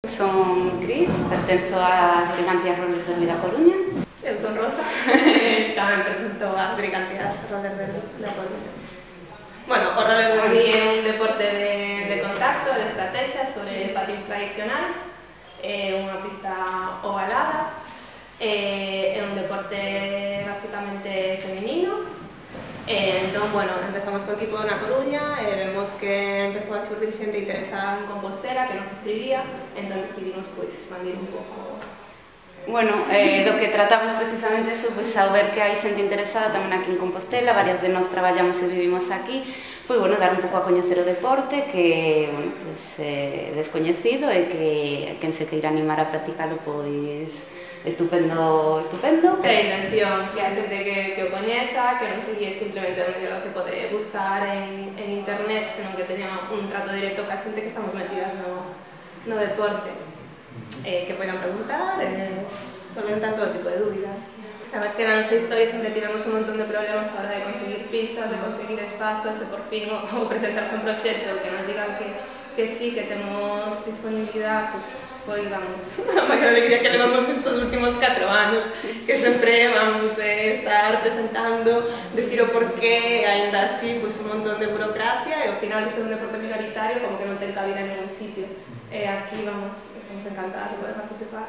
Son Cris, pertenzo ás Brigantias Roller Derby da Coruña. Eu son Rosa, tamén pertenzo ás Brigantias Roller Derby da Coruña. Bueno, o roller derby é un deporte de contacto, de estrategia sobre patins tradicionais. É unha pista ovalada, é un deporte basicamente femenino. Entón, bueno, empezamos co equipo na Coruña e vemos que empezou a xurdir xente interesada en Compostela que nos escribía, entón decidimos expandir un pouco. Bueno, do que tratamos precisamente eso, pois ao ver que hai xente interesada tamén aquí en Compostela, varias de nós traballamos e vivimos aquí, pois bueno, dar un pouco a coñecer o deporte que, bueno, pois descoñecido e que quen se queira animar a practicalo, pois estupendo, estupendo. A intención que a xente que o coñeza, que non se guíe simplemente o mellor que pode buscar en internet, senón que teña un trato directo ca xente que estamos metidas no deporte, que poidan preguntar, solventar todo tipo de dúbidas. A verdade é que na nosa historia sempre tivemos un montón de problemas a hora de conseguir pistas, de conseguir espazos, e por fin o presentarse un proxecto que nos digan que sí, que temos disponibilidade, foi, vamos, a maior alegría que levamos estes últimos 4 anos, que sempre vamos estar presentando, decir o porqué, ainda así, un montón de burocracia, e ao final de ser un deporte minoritario, como que non ten cabida en ningún sitio. Aquí, vamos, estamos encantadas de poder participar.